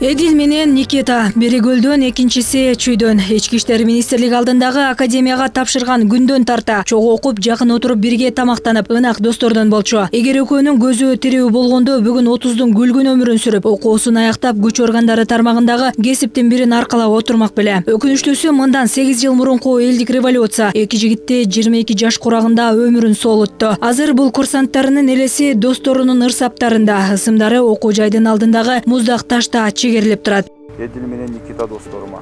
Эдил менен Никита бири көлдөн, экинчиси чүйдөн. Ички иштер министрлиги алдындагы академияга тапшырган күндөн тарта чогуу окуп, жакын отуруп бирге тамактанып, ынак достордон болчу. Эгер экөөнүн көзү тирүү болгондо бүгүн 30дун күлгүн өмүрүн сүрүп, окуусун аяктап, күч органдары тармагындагы кесиптин бирин аркалап отурмак беле. Өкүнүчтүүсү, мындан 8 жыл мурунку элдик революция эки жигитти 22 жаш курагында өмүрүн соолутту. Азыр бул курсанттарынын элеси досторунун ырсаптарында, ысымдары окуу жайдын алдындагы муздак ташта чегерилип турат. Эдил менен Никита досторума.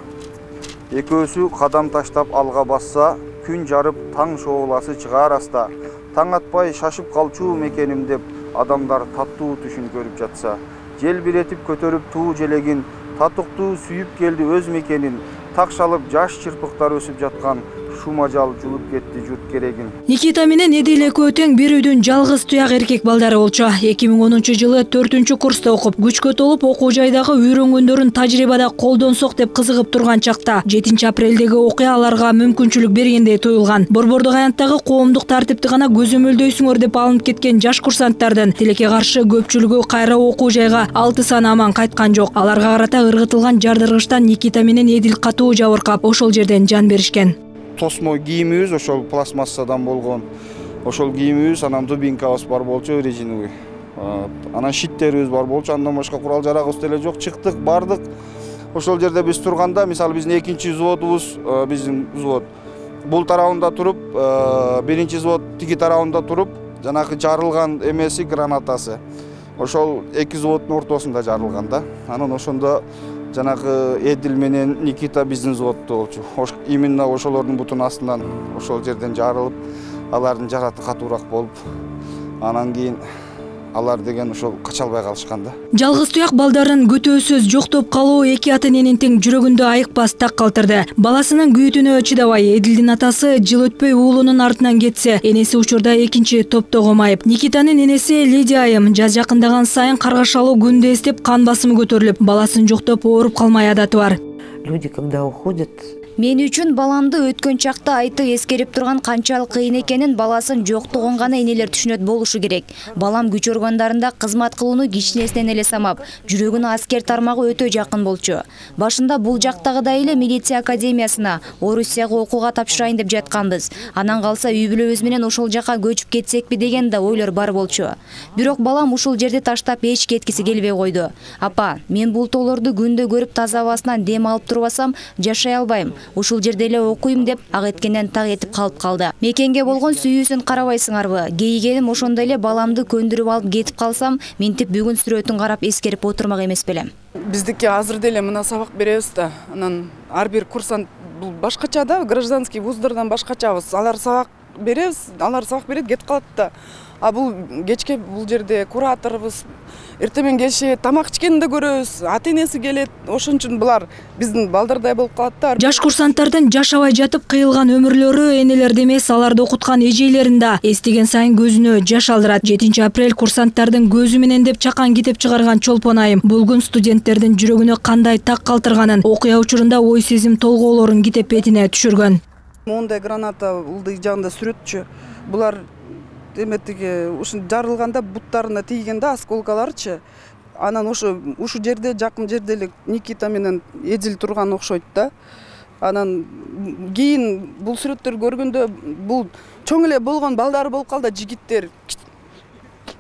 Экөөсү кадам таштап алга басса, күн жарып, таң шооласы чыгаар аста. Таң атпай шашып калчу мекеним деп адамдар таттуу түшүн көрүп жатса, желбиретип көтөрүп туу желегин, татыктуу сүйүп келди өз мекенин, так шалып жаш чырпыктар өсүп жаткан шумажал жулуп кетти журт керегин. Никита менен Эдил экөө тең бир үйдүн жалгыз туяк эркек балдары болчу. 2010-жылы 4-курста окуп, күчкө толуп окуу жайдагы үйрөнгөндөрүн тажрыйбада колдонсок деп кызыгып турган чакта 7-апрелдеги окуя аларга мүмкүнчүлүк бергендей туюлган. Борбордук аянттагы коомдук тартипти гана көзөмөлдөйсүңөр деп алынып кеткен жаш курсанттардын тилекке каршы көпчүлүгү кайра окуу жайга 6 саны аман кайткан жок. Аларга карата ыргытылган жардыргычтан Никита менен Эдил катуу жабыркап, ошол жерден жан беришкен. Тосмо кийимибиз ошол пластмассадан болгон. Ошол кийимибиз, анан дубинкабыз бар болчу, резиновый. Анан шиттерибиз бар болчу, андан башка курал жарагыбыз деле жок. Чыктык, бардык. Ошол жерде биз турганда, мисалы биздин экинчи взводубуз, биздин взвод бул тарабында туруп, биринчи взвод тиги тарабында туруп, жанагы жарылган эмеси гранатасы. Ошол эки взводдун ортосунда жарылган да. Анан ошондо жанагы Эдил менен Никита биздин взводдо болчу. Именно ошолордун бутунун астынан ошол жерден жарылып, алардын жараты катуураак болуп, анан кийин алар деген ошол кача албай калышкан да. Жалгыз туяк балдарын көтөөсүз жоктоп калуу эки ата эненин тең жүрөгүндө айыкпас так калтырды. Баласынын күйүтүнө чыдабай, Эдилдин атасы жыл өтпөй уулунун артынан кетсе, энеси учурда экинчи топтогу майып. Никитанын энеси Лидия айым жаз жакындаган сайын каргашалуу күндү эстеп кан басымы көтөрүлүп, баласын жоктоп ооруп калмай адаты бар. Люди, когда уходят, Мен үчүн баламды өткөн чакта айтып эскерип турган канчалык кыйын экенин баласын жоктугун гана энелер түшүнөт болушу керек. Балам күч органдарында кызмат кылууну кичинесинен эле самап, жүрөгүнө аскер тармагы өтө жакын болчу. Башында бул жактагыдай эле милиция академиясына, Орусияга окууга тапшырайын деп жатканбыз. Анан калса үй бүлөбүз менен ошол жака көчүп кетсекпи деген да ойлор бар болчу. Бирок балам ушул жерди таштап эч кеткиси келбей койду. Апа, мен бул тоолорду күндө көрүп таза абасынан дем алып турбасам, жашай албайм. Ушул жерде эле окуйм деп ак эткенден так этип калды. Мекенге болгон сүйүүсүн карабайсыңарбы? Кейигеним ошондой эле баламды көндүрүп алып кетип калсам, мынтип бүгүн сүрөтүн карап эскерип отурмак эмес белем. Биздики азыр деле мына сабак беребиз да. Анан ар бир курсант бул башкача да, гражданский вуздардан башкачабыз. Алар сабак беребиз, алар сабак берет, кетип калат да. А бул кечке бул жерде кураторбуз, эртең келишет, тамак ичкенин да көрөбүз, ата-энеси келет. Ошон үчүн булар биздин балдардай болуп калат да. Жаш курсанттардын жашабай жатып кыйылган өмүрлөрү энелерди эмес, аларды окуткан эжейлерин да эстеген сайын көзүнө жаш алдырат. 7-апрель курсанттардын көзү менен деп чакан китеп чыгарган Чолпон айым бул күн студенттердин жүрөгүнө кандай так калтырганын, окуя учурунда ой сезим толгоолорун китеп бетине түшүргөн. Мондай граната улдый жагында сүрөтчү. Булар эметиги ушу жарылганда буттарына тийген да осколкаларчы. Анан ушу жерде, жакын жерде эле Никита менен Эдил турган окшойт да. Анан кийин бул сүрөттөрдү көргөндө бул чоң эле болгон балдары болуп калды, жигиттер.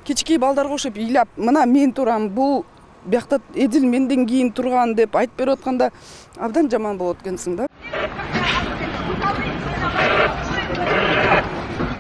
Кички балдарга окшоп ыйлап, мына мен турам, бул биякта Эдил менден кийин турган деп айтып берип атканда абдан жаман болот экенсиң да.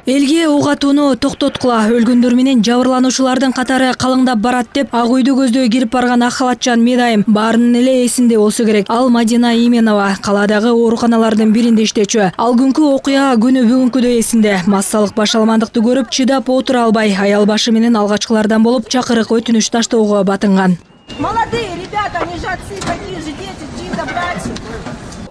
Элге ок атууну токтоткула, өлгөндөр менен жабырлануучулардын катары калыңдап барат деп ак үйдү көздөй кирип барган ак халатчан медайым баарынын эле эсинде болсо керек. Ал Мадина Именова каладагы ооруканалардын биринде иштечү. Ал күнкү окуя күнү бүгүнкүдөй эсинде. Массалык башаламандыкты көрүп чыдап отура албай, аял башы менен алгачкылардан болуп чакырык өтүнүч таштоого батынган. Молодые ребята, они же отцы, такие же дети, чьи-то братья.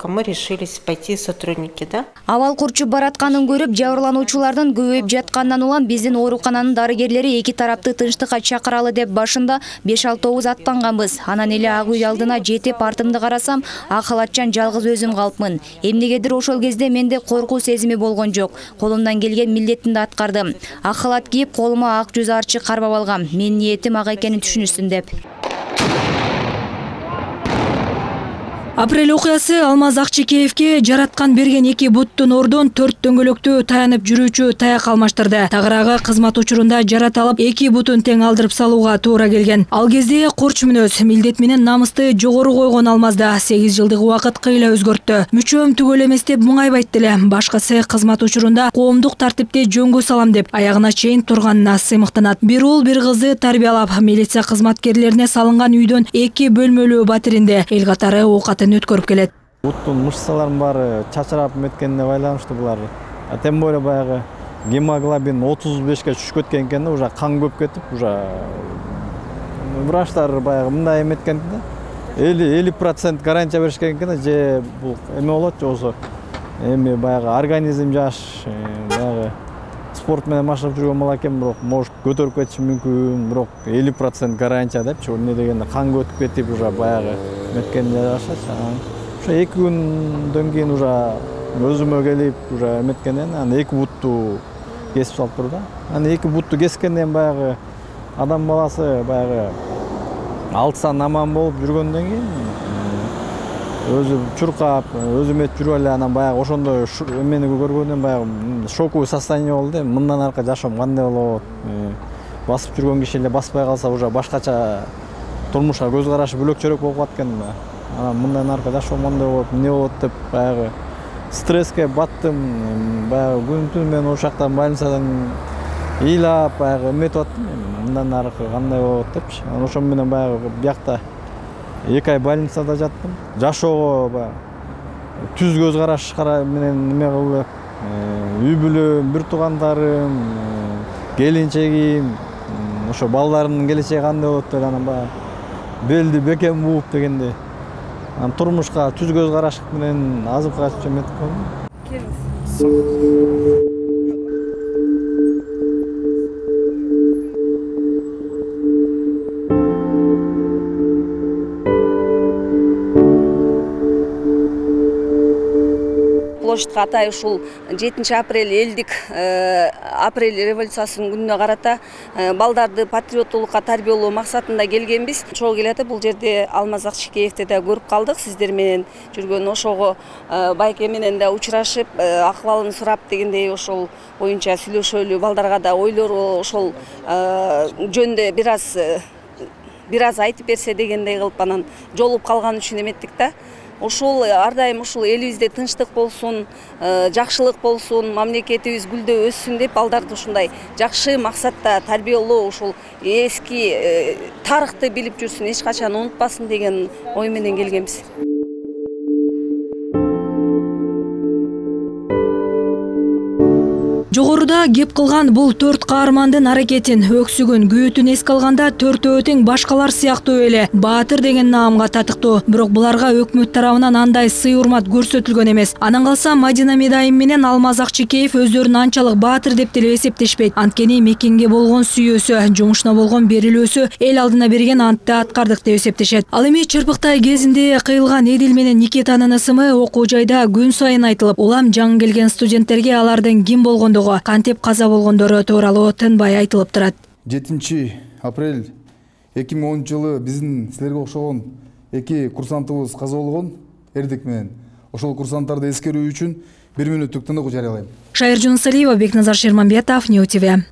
Мы решились пойти сотрудники, да? Абал курчуп баратканын көрүп, жабырлануучулардын көбөйүп жаткандан улам биздин оорукананын дарыгерлери эки тарапты тынчтыкка чакыралы деп башында 5-6 аттанганбыз. Анан эле ак үй алдына жетип артымды карасам, ак халатчан жалгыз өзүм калыпмын. Эмнегедир ошол кезде менде коркуу сезими болгон жок. Колумдан келген милдетимди аткардым. Ак халат кийип, колума ак жүз арчы карбап алгам. Менин ниетим ак экенин түшүнүшсүн деп. Апрель окуясы Алмаз Акчекеевке жараткан берген 2 буттун ордун 4 дөңгөлөктө таянып жүрүүчү таяк алмаштырды. Тагыраагы кызмат учурунда жарат алып 2 бутун тең алдырып салууга туура келген. Ал кезде корч мүнөз, милдет менен намысты жогору койгон Алмазда 8 жылдык убакыт кыйла өзгөрттү. Мүчөм түгөл эмес деп муңайбайт деле. Башкысы кызмат учурунда коомдук тартипти жөнгө салам деп аягына чейин турганына сыймыктанат. Бир уул бир кызды тарбиялап, милиция кызматкерлерине салынган үйдөн 2 бөлмөлүү батиринде эл катары оокатын өткөрүп келет. Буттун мышцаларынын баары чачырап меткенине байланыштуу булар. Тем более баягы гемоглобин 35ке түшүп кеткен экен, уже кан көп кетип, уже врачтар баягы мындай эметкен да. 50% гарантия беришкен экен, же бул эме болот, же болсо эми баягы организм жаш, баягы спорт менен машыгып жүргөн бала экен, бирок может көтөрүп кетиши мүмкүн, бирок 50% гарантия депчи. Эмне дегенде кан өтүп кетип, уже баягы меткен жашачы. Ошо 2 күндөн кийин уже өзүмө келип, уже эметкенден анан 2 бутту кесип салып турду. Анан 2 бутту кескенден баягы адам баласы баягы 6 сан аман болуп жүргөндөн кийин өзү чуркап, өзү эметип жүрүп эле, анан баягы ошондой эмени көргөндөн баягы шоковый состояние болду. Мындан аркы жашоом кандай болот? Басып жүргөн киши эле баспай калса уже башкача турмушка көз карашы бөлөкчөрөөк болуп калат экен. Анан мындан аркы жашоом кандай болот, эмне болот деп баягы стресске баттым. Баягы күн түн мен ошол жактан больницадан ыйлап баягы эметип аттым. Мындан аркы кандай болот депчи. Ошол менен баягы биякта 2 ай больницада жаттым. Жашоого баягы түз көз караш менен неме кылып, үй бүлөм, бир туугандарым, келинчегим, ошо балдарымдын келечеги кандай болот деп анан баягы белди бекем бууп дегенде турмушка түз көз караш менен азыркыга эметип калдым. Площадька атай ушул 7 апрель элдик апрель революциясынын күнүнө карата балдарды патриоттуулукка тарбиялоо максатында келгенбиз. Чогуу келатып бул жерде Алмаз Акчекеевди да көрүп калдык. Сиздер менен жүргөн ошого байке менен да учурашып, акыбалын сурап дегендей ошол боюнча сүйлөшөлү, балдарга да ойлору ошол жөндө бир аз айтып берсе дегендей кылып анан жолугуп калган үчүн эметтик да. Ошол ар дайым ушул элибизде тынчтык болсун, жакшылык болсун, мамлекетибиз гүлдөп өссүн деп балдарды ушундай жакшы максатта тарбиялоо, ушул эски тарыхты билип жүрсүн, эч качан унутпасын деген ой менен келгенбиз. Жогоруда кеп кылган бул 4 каармандын аракетин, өксүгүн, күйөтүн эске алганда төртөө тең башкалар сыяктуу эле баатыр деген наамга татыктуу. Бирок буларга өкмөт тарабынан андай сый-урмат көрсөтүлгөн эмес. Анан калса Мадина Медайым менен Алмаз Акчекеев өздөрүн анчалык баатыр деп деле эсептешпейт. Анткени мекенге болгон сүйүүсү, жумушуна болгон берилүүсү эл алдына берген антты аткардык деп эсептешет. Ал эми Чырпыктай кезинде кыйылган Эдил менен Никитанын ысымы окуу жайда күн сайын айтылып, улам жаңы келген студенттерге алардын ким болгондугу, кантип каза болгондору тууралуу тынбай айтылып турат. 7 апрель 2010 жылы биздин силерге окшогон 2 курсантыбыз каза болгон эрдик менен. Ошол курсанттарды эскерүү үчүн 1 мүнөттүк тыныгуу жарыялайм. Шайыр Жунусалиева, Бекназар Шерманбетов, Нью ТВ.